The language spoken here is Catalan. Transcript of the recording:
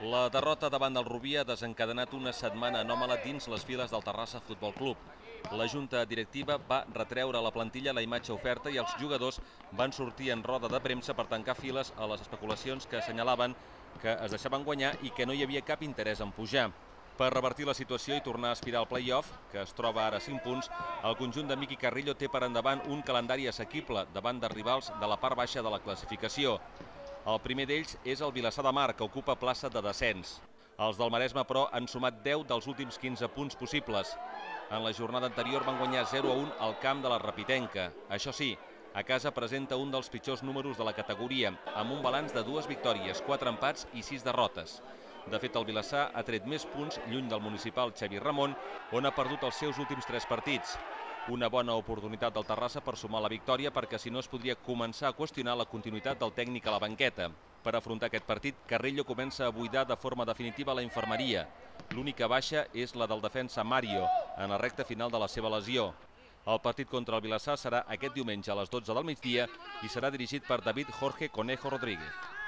La derrota davant del Rubí ha desencadenat una setmana anòmala dins les files del Terrassa Futbol Club. La junta directiva va retreure a la plantilla la imatge oferta i els jugadors van sortir en roda de premsa per tancar files a les especulacions que assenyalaven que es deixaven guanyar i que no hi havia cap interès en pujar. Per revertir la situació i tornar a aspirar al play-off, que es troba ara a 5 punts, el conjunt de Miqui Carrillo té per endavant un calendari assequible davant de rivals de la part baixa de la classificació. El primer d'ells és el Vilassar de Mar, que ocupa plaça de descens. Els del Maresme, però, han sumat 10 dels últims 15 punts possibles. En la jornada anterior van guanyar 0-1 al camp de la Rapitenca. Això sí, a casa presenta un dels pitjors números de la categoria, amb un balanç de 2 victòries, 4 empats i 6 derrotes. De fet, el Vilassar ha tret més punts lluny del municipal Xavi Ramon, on ha perdut els seus últims 3 partits. Una bona oportunitat del Terrassa per sumar la victòria, perquè si no es podria començar a qüestionar la continuïtat del tècnic a la banqueta. Per afrontar aquest partit, Carrillo comença a buidar de forma definitiva la infermeria. L'única baixa és la del defensa Mario, en la recta final de la seva lesió. El partit contra el Vilassar serà aquest diumenge a les 12 del migdia i serà dirigit per David Jorge Conejo Rodríguez.